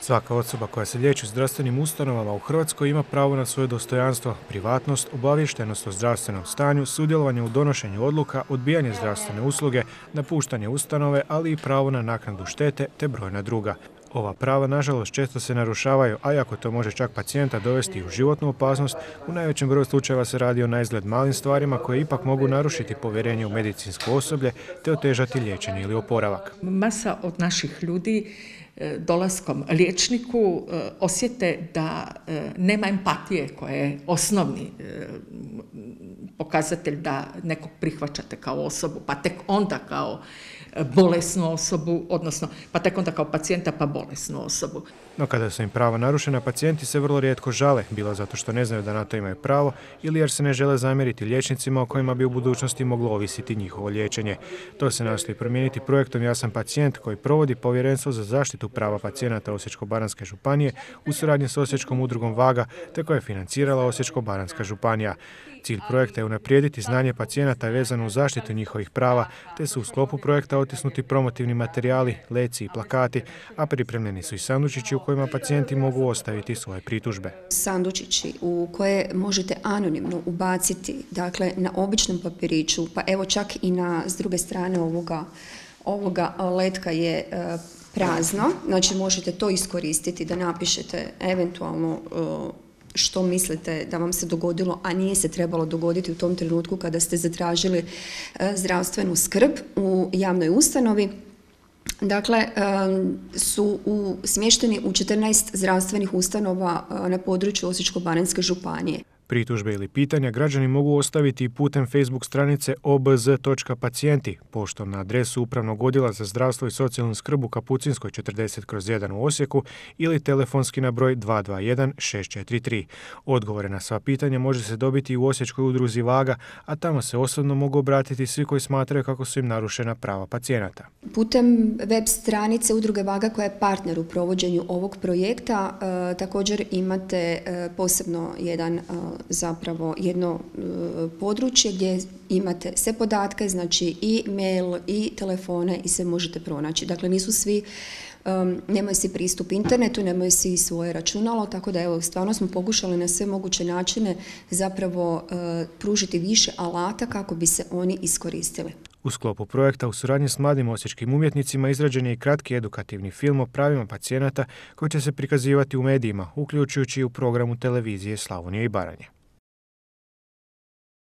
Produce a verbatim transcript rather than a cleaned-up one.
Svaka osoba koja se liječi u zdravstvenim ustanovama u Hrvatskoj ima pravo na svoje dostojanstvo, privatnost, obaviještenost o zdravstvenom stanju, sudjelovanje u donošenju odluka, odbijanje zdravstvene usluge, napuštanje ustanove, ali i pravo na naknadu štete te brojna druga. Ova prava, nažalost, često se narušavaju, a iako to može čak pacijenta dovesti u životnu opasnost, u najvećem broju slučajeva se radi o naizgled malim stvarima koje ipak mogu narušiti povjerenje u medicinsko osoblje te otežati liječenje ili oporavak. Masa od naših ljudi dolaskom liječniku osjete da nema empatije koja je osnovni pokazatelj da nekog prihvaćate kao osobu, pa tek onda kao bolesnu osobu, odnosno pa tek onda kao pacijenta pa bolesnu osobu. No kada su im prava narušena, pacijenti se vrlo rijetko žale, bilo zato što ne znaju da na to imaju pravo ili jer se ne žele zamjeriti liječnicima o kojima bi u budućnosti moglo ovisiti njihovo liječenje. To se nastoji promijeniti projektom Ja sam pacijent koji provodi Povjerenstvo za zaštitu prava pacijenata Osječko-baranjske županije u suradnji s Osječkom udrugom Vaga te koje je financirala Osječko-baranjska županija. Cilj projekta je unaprijediti znanje pacijenata vezano uz zaštitu njihovih prava, te su u sklopu projekta otisnuti promotivni materijali, leci i plakati, a pripremljeni su i sandučići u kojima pacijenti mogu ostaviti svoje pritužbe. Sandučići u koje možete anonimno ubaciti, dakle na običnom papiriću, pa evo čak i na s druge strane ovoga, ovoga letka je e, prazno, znači možete to iskoristiti da napišete eventualno e, što mislite da vam se dogodilo, a nije se trebalo dogoditi u tom trenutku kada ste zatražili zdravstvenu skrb u javnoj ustanovi. Dakle, su u, smješteni u četrnaest zdravstvenih ustanova na području Osječko-baranjske županije. Pritužbe ili pitanja građani mogu ostaviti putem Facebook stranice o b z točka pacijenti, poštom na adresu Upravnog odjela za zdravstvo i socijalnu skrb u Kapucinskoj četrdeset kroz jedan u Osijeku ili telefonski na broj dva dva jedan šest četiri tri. Odgovore na sva pitanja može se dobiti u Osječkoj udruzi Vaga, a tamo se osobno mogu obratiti svi koji smatraju kako su im narušena prava pacijenata. Putem web stranice Udruge Vaga koja je partner u provođenju ovog projekta, e, također imate e, posebno jedan e, zapravo jedno e, područje gdje imate sve podatke, znači i mail i telefone i sve možete pronaći. Dakle, nisu svi, um, nemaju svi pristup internetu, nemaju svi svoje računalo, tako da evo, stvarno smo pokušali na sve moguće načine zapravo uh, pružiti više alata kako bi se oni iskoristili. U sklopu projekta u suradnji s mladim osječkim umjetnicima izrađen je i kratki edukativni film o pravima pacijenata koji će se prikazivati u medijima, uključujući i u programu televizije Slavonije i Baranje.